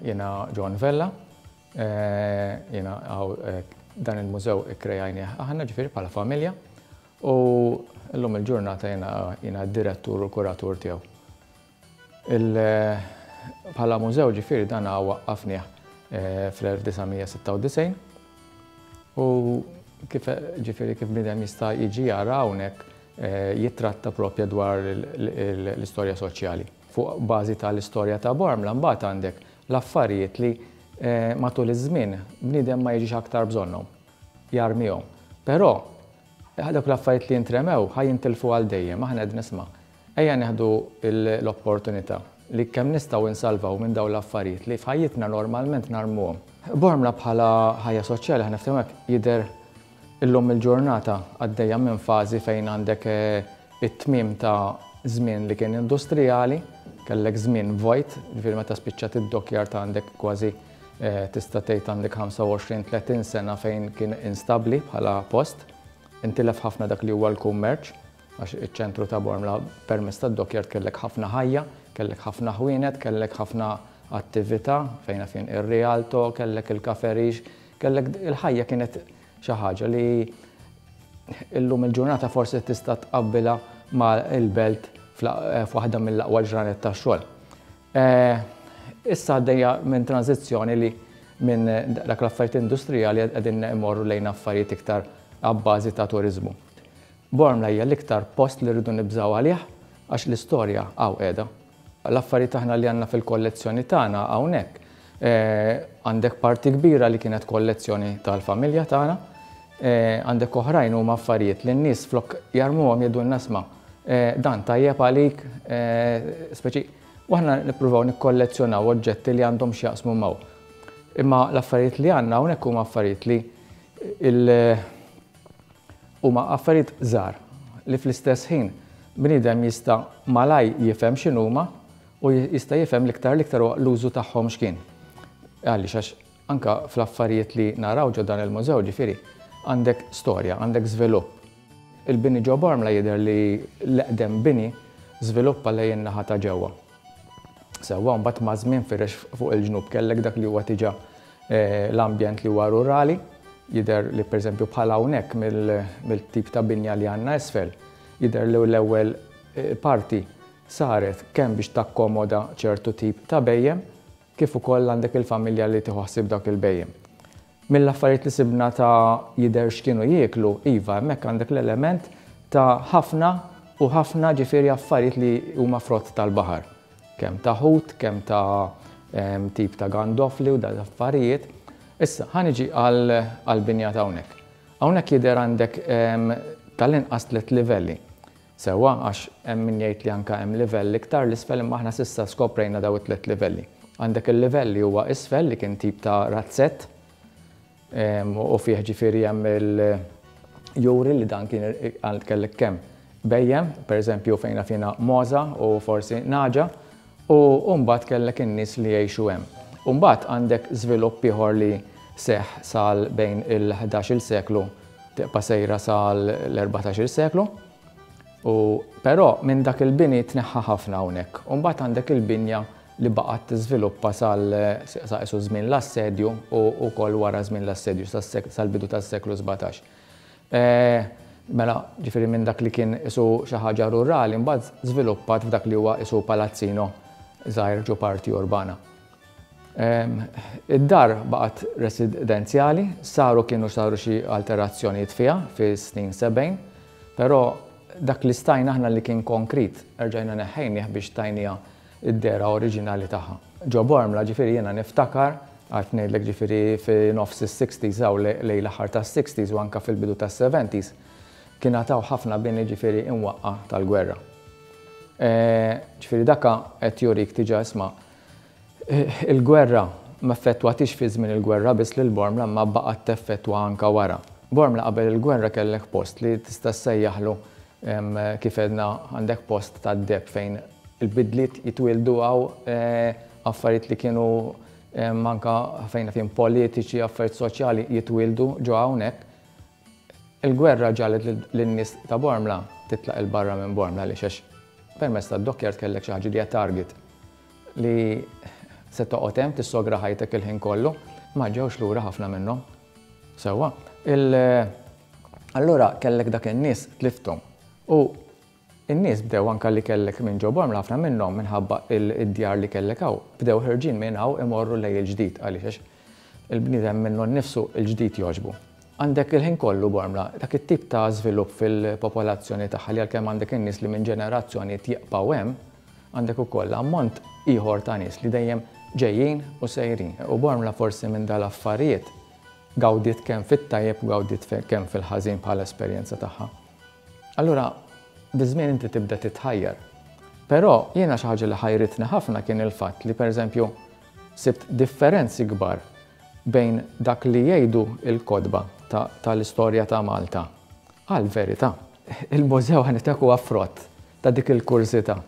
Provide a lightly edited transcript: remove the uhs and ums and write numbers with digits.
Jiena John Vella, jiena dan il-mużew ikkrejajnieh aħna ġifieri bħala familja u llum il-ġurnata jiena d-direttur u l-kuratur tiegħu. Bħala mużew ġifieri dan waqqafnieh fl-1996 u kif ġifieri kif bniedem jista' jiġi jara hawnhekk jittratta propja dwar l-istorja soċjali. Fuq bażi tal-istorja ta' Bormla mbagħad għandek l-affarijiet li matul iż-żmien bniedem ma jiġix aktar bżonnhom, jarmihom. Però dawk l-affarijiet li jintremew ħa jintilfu għal dejjem, aħna qed nisma' ejja nieħdu l-opportunità li kemm nistgħu nsalvaw minn dawn l-affarijiet li f'ħajjitna normalment narmuhom. Bormla bħala ħajja soċjali ħa niftehmu hekk jidher illum il-ġurnata għaddejja minn fażi fejn għandek it-tmiem ta' żmien li kien industrijali, kellek żmien vojt, ġifieri meta spiċċat id-dockyard għandek kważi tista' tgħid għandek 25-30 sena fejn kien instabbli bħala post. Intilef ħafna dak li huwa l-kummerċ, għax iċ-ċentru ta' Bormla permezz tad-dockyard kellek ħafna ħajja, kellek ħafna ħwienet, kellek ħafna attività fejn fin ir-Rialto, kellek il-kaferix, kellek il-ħajja kienet xi ħaġa li illum il-ġurnata forsi tista' tqabbilha ma' il-belt f'waħda mill-aqwa ġranet tax-xogħol. Issa għaddejja minn tranżizzjoni li minn dak l-affarijiet industrijali qegħdin imorru lejn affarijiet iktar abbażi ta' turiżmu. Bormla hija l-iktar post li rridu nibżgħu għalih għax l-istorja hawn qiegħda. L-affarijiet aħna li għandna fil-kollezzjoni tagħna hawnhekk għandek parti kbira li kienet kollezzjoni tal-familja tagħna, għandek oħrajn huma affarijiet li n-nies flok jarmuhom jgħidulna isma' dan tajjeb għalik, speċi u aħna nippruvaw nikkollezzjonaw oġġetti li għandhom x'jaqsmu maw. Imma l-affarijiet li għandna hawnhekk huma affarijiet li huma affarijiet żgħar li fl-istess ħin bniedem jista' malaj jifhem x'inhuma u jista' jifhem l-iktar l-iktar huwa l-użu tagħhom x'kien. Għaliex għax anka fl-affarijiet li naraw ġo dan il-mużew ġifieri għandek storja, għandek żvilupp. Il-bini ġo Bormla jidher li l-eqdem bini żviluppa lejn in-naħa ta' ġewwa. Sewwa mbagħad maż-żmien firex fuq il-ġnub kellek dak li huwa diġà l-ambjent li huwa rurali, jidher li pereżempju bħal hawnhekk mill-tip ta' binja li għandna isfel, jidher li l-ewwel parti saret kemm biex takkomoda ċertu tip ta' bhejjem, kif ukoll għandek il-familja li tieħu ħsieb dawk il-bhejjem. Mill-affarijiet li sibna ta' jidher x'kienu jieklu, iva, hemmhekk għandek l-element ta' ħafna u ħafna ġifieri affarijiet li huma frott tal-baħar. Kemm ta' ħut, kemm ta' tip ta' gandofli u dawn l-affarijiet. Issa, ħa niġi għall-binja ta' hawnhekk. Hawnhekk jidher għandek tal-inqas tliet livelli. Sewwa, għax hemm min jgħid li anke hemm livell iktar 'l isfel imma aħna s'issa skoprejna dawn it-tliet livelli. Għandek il-livell li huwa isfel li kien tip ta' razzett u fih ġifieri hemm il-juri li dan kien kellek kemm bhejjem, pereżempju fejn naf jiena mogħża u forsi nagħġa, u mbagħad kellek in-nies li jgħixu hemm. U mbagħad għandek żvilupp ieħor li seħħ sal bejn il-ħdax-il seklu tibqa' sejra sal-erbatax-il seklu. U però minn dak il-bini tneħħa ħafna hawnhekk. U mbagħad għandek il-binja li baqgħet tiżviluppa sal sa qisu żmien l-assedju u wkoll wara żmien l-assedju sal-bidu tas-seklu 17. Mela, ġifieri minn dak li kien qisu xi ħaġa rurali mbagħad żviluppat f'dak li huwa qisu palazzino żgħir ġo parti urbana. Id-dar baqgħet residenzjali, saru kienu saru xi alterazzjonijiet fiha fis-snin 70, però dak li stajna aħna li kien konkrit erġajna neħħejnih biex tajniha d-dehra oriġinali tagħha. Ġo Bormla ġifieri jiena niftakar, għad ngħidlek ġifieri fi nofs is-sixties hawn lejn l-aħħar tas-sixties u anke fil-bidu tas-seventies, kien għad hawn ħafna bini ġifieri imwaqqa' tal-gwerra. Ġifieri daka qed jurik diġà isma' Il-gwerra m'effettwatix fi żmien il-gwerra biss lil Bormla imma baqgħet teffettwa anke wara. Bormla qabel il-gwerra kellek post li tista' ssejjaħlu kif għedna għandek post tad-deheb fejn il-bidliet jitwieldu hawn affarijiet li kienu anke fejn fien politiċi, affarijiet soċjali jitwieldu ġo hawnhekk. Il-gwerra ġagħlet lin-nies ta' Bormla titlaq 'il barra minn Bormla għaliex għax permezz tad-dockyard kellek xi ħaġa li hija target li Se toqgħod hemm tissogra ħajtek il-ħin kollu? Ma ġewx lura ħafna minnhom. Sewwa. Il Allura kellek dak in-nies tlifthom. U n-nies bdew anke li kellek minn ġo Bormla ħafna minnhom minħabba id-djar li kellek hawn, bdew ħerġin minn hawn imorru lejn il-ġdid għaliex għax il-bniedem minnu nnifsu l-ġdid jogħġbu. Għandek il-ħin kollu Bormla dak it-tip ta' żvilupp fil-popolazzjoni tagħha li għalkemm għandek in-nies li minn ġenerazzjonijiet jibqgħu hemm, għandek ukoll ammont ieħor ta' nies li dejjem ġejjin u sejrin. U Bormla forsi minn dal-affarijiet gawdiet kemm fit-tajjeb u gawdiet kemm fil-ħażin bħala esperjenza tagħha. Allura, biż-żmien inti tibda titħajjar. Però jiena xi ħaġa li ħajritni ħafna kien il-fatt li pereżempju sibt differenzi kbar bejn dak li jgħidu l-kotba tal-istorja ta' Malta għall-verità. Il-mużew ħa ngħidlek huwa frott ta' dik il-kurżità.